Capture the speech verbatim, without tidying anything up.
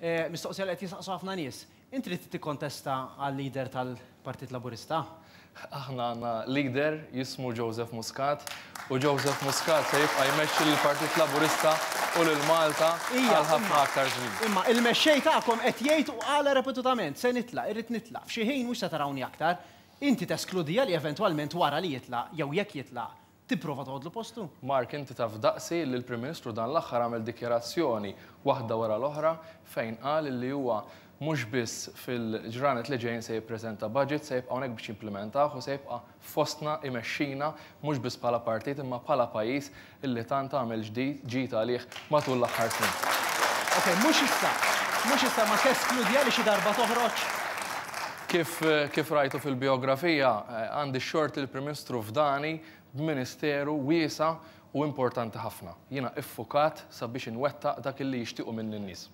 Eh, mistoqsija li qed jisaqsu ħafna nies. Inti li tikkontesta għal leader tal-Partit Laburista? Aħna għandna leader jismu Joseph Muscat u Joseph Muscat se jibqa' jmexxi lill-Partit Laburista u lil Malta għal ħafna aktar żmien. Imma il-mexxej tagħkom qed jgħid u qala repetutament, se nitlaq, irrid nitlaq. F'xi ħin mhux se tarawni aktar. Inti teskludija li eventwalment wara li jitlaq jew jekk jitlaq tipprova toħodlu postu? Mark, inti taf daqsi li l-Prim Ministru dan l-aħħar għamel dikjarazzjoni waħda wara l-oħra fejn qal li huwa mhux biss fil-ġranet li ġejjin se jippreżenta budget, se jibqa' hawnhekk biex jimplementah u se jibqa' fostna imexxina mhux biss bħala partit imma bħala pajjiż illi tant għamel ġdid ġid għalih matul l-aħħar snin. Ok, mhux issa, mhux issa ma teskludija li xi darba toħroġ? Kif, kif rajtu fil-biografija, għandi xort il-Prim Ministru fdani b'ministeru wiesa' u importanti ħafna. Jiena iffukat sabiex inwettaq dak illi jixtiequ minn n-nies.